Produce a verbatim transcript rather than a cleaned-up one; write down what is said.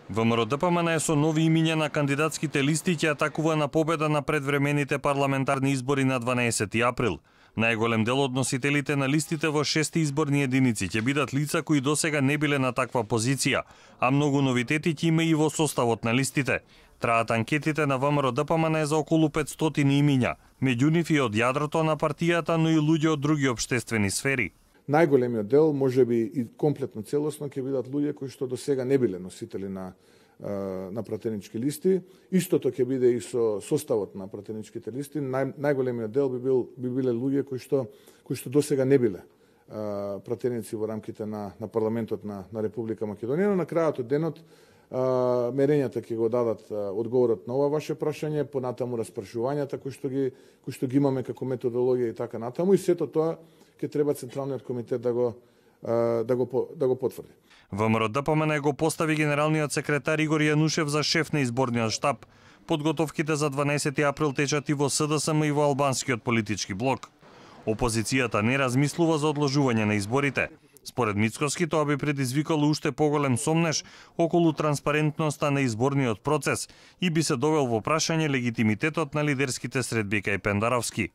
ВМРО-ДПМН со нови имиња на кандидатските листи ќе атакува на победа на предвремените парламентарни избори на дванаесети април. Најголем дел од носителите на листите во шести изборни единици ќе бидат лица кои досега не биле на таква позиција, а многу новитети ќе има и во составот на листите. Траат анкетите на ВМРО-ДПМН за околу петстотини имиња, меѓу нив и од јадрото на партијата, но и луѓе од други општествени сфери. Најголемиот дел, можеби и комплетно целосно, ќе бидат луѓе кои што до сега не биле носители на на пратенички листи. Истото ќе биде и со составот на пратеничките листи. Нај, најголемиот дел би бил би биле луѓе кои што кои што до сега не биле а, пратеници во рамките на на парламентот на на Република Македонија. Но на крајот од денот а, мерењата ќе го дадат а, одговорот на ова ваше прашање, понатаму распрашувањата кои што ги кои што ги имаме како методологија и така натаму, и сето тоа ќе треба Централниот комитет да го да го да го потврди. ВМРО-ДПМН го постави генералниот секретар Игор Јанушев за шеф на изборниот штаб. Подготовките за дванаесети април течат и во СДСМ и во албанскиот политички блок. Опозицијата не размислува за одложување на изборите. Според Мицкоски, тоа би предизвикало уште поголем сомнеж околу транспарентноста на изборниот процес и би се довел во прашање легитимитетот на лидерските средби кај Пендаровски.